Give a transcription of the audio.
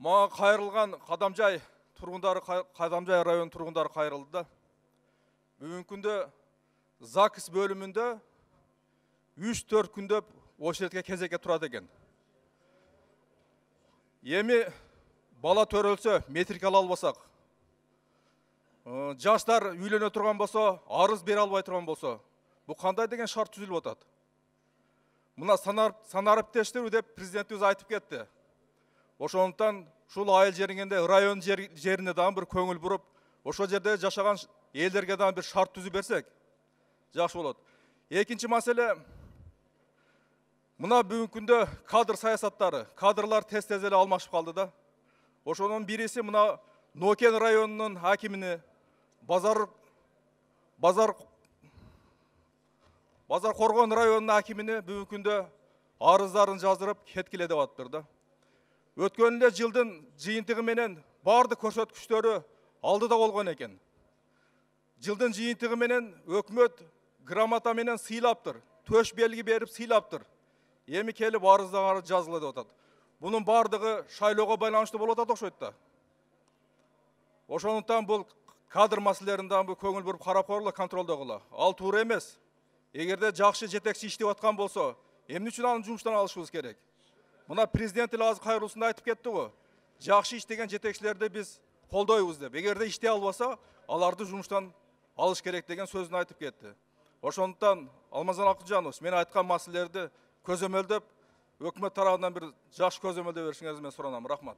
Мага кайрылган Кадамжай тургундары, Кадамжай районунун тургундары кайрылды да. Бүгүнкү күндө ЗАГС бөлүмүндө 3-4 күндөп очередке кезекке турат экен. Эми бала төрөлсө, метрик ала албасак, жаштар үйлөнө турган болсо, арыз бере албай турган болсо, бу кандай деген шарт түзүлүп атат? Мына санариптештирүү деп президентибиз айтып кетти. Ошондуктан ушул айыл жериңинде район жерине дагы бир көңүл буруп, ошол жерде жашаган элдерге дагы бир шарт түзүп берсек жакшы болот. Экинчи маселе, мына бүгүнкү күндө кадр саясаттары, кадрлар тез-тез эле алмашып калды да. Ошонун бириси мына Нокен районунун акимини, Базар Коргон районунун акимини бүгүнкү күндө арыздарын жаздырып кеткиле деп атыптыр да. Өткөн эле жылдын жыйынтыгы менен баардык көрсөткүчтөрү алдыда болгон экен. Жылдын жыйынтыгы менен өкмөт грамота менен сыйлаптыр, төш белги берип сыйлаптыр. Эми келип арыздары жазгыла деп атат. Бунун баардыгы шайлоого байланыштуу болуп атат окшойт да. Ошондуктан бул кадр маселелерин дагы көңүл буруп карап койгула, контролдогула. Ал туура эмес. Эгерде жакшы жетекчи иштеп аткан болсо, эмне үчүн аны жумуштан алышыбыз керек? Мына президент эле азыр кайрылуусунда айтып кетти го. Жакшы иштеген жетекчилерди биз колдойбуз деп. Эгерде иштей албаса, аларды жумуштан алыш керек деген сөзүн айтып кетти. Ошондуктан Алмазан Акылжанович, мен айткан маселелерди көзөмөлдөп, өкмөт тарабынан бир жакшы көзөмөлдөө беришиңизди мен суранам. Рахмат.